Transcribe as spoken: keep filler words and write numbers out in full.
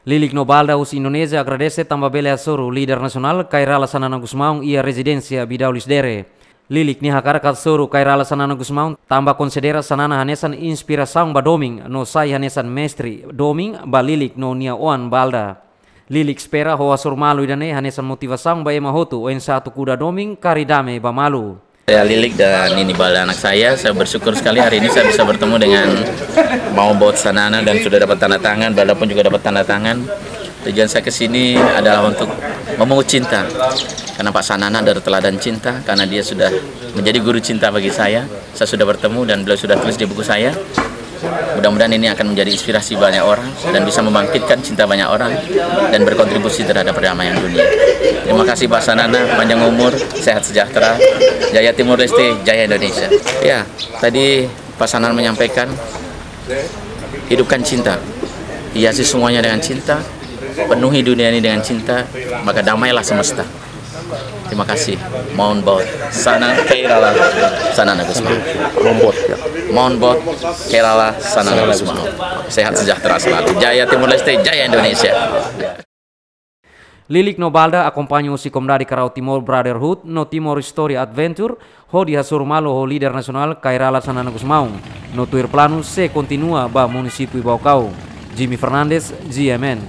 Lilik no Balda husi Indonézia agradese tanba bele hasoru líder nasionál Kay Rala Xanana Gusmão iha rezidénsia Bidaulis Dere. Lilik nia hakarak hasoru Kay Rala Xanana Gusmão tanba konsidera Xanana hanesan inspirasaun ba domin no sai hanesan mestre domin ba Lilik no nia oan Balda. Lilik espera ho hasoru malu ida-ne'e hanesan motivasaun ba ema hotu oinsá atu kuda domin, kari dame ba malu. Saya Lilik dan ini Balda anak saya. Saya bersyukur sekali hari ini saya bisa bertemu dengan Maun Boot Xanana dan sudah dapat tanda tangan. Balda pun juga dapat tanda tangan. Tujuan saya ke sini adalah untuk memungut cinta. Karena Pak Xanana adalah teladan cinta, karena dia sudah menjadi guru cinta bagi saya. Saya sudah bertemu dan beliau sudah tulis di buku saya. Mudah-mudahan ini akan menjadi inspirasi banyak orang dan bisa membangkitkan cinta banyak orang dan berkontribusi terhadap perdamaian dunia. Terima kasih Pak Xanana, panjang umur, sehat sejahtera, jaya Timor Leste, jaya Indonesia. Ya, tadi Pak Xanana menyampaikan, hidupkan cinta, hiasi semuanya dengan cinta, penuhi dunia ini dengan cinta, maka damailah semesta. Terima kasih. Maun Boot Xanana, Kay Rala Xanana Gusmão. Maun Boot, ya. Maun Boot, Kay Rala Xanana Gusmão. Sehat sejahtera selalu. Jaya Timor Leste, jaya Indonesia. Lilik no Balda akompaña husi komunidade Karau Timor Brotherhood no Timor Story Adventure hodi hasoru malu ho líder nasionál Kay Rala Xanana Gusmão no tuir planu sei kontinua ba munisípiu Baucau. Jimmy Fernandes, G M N.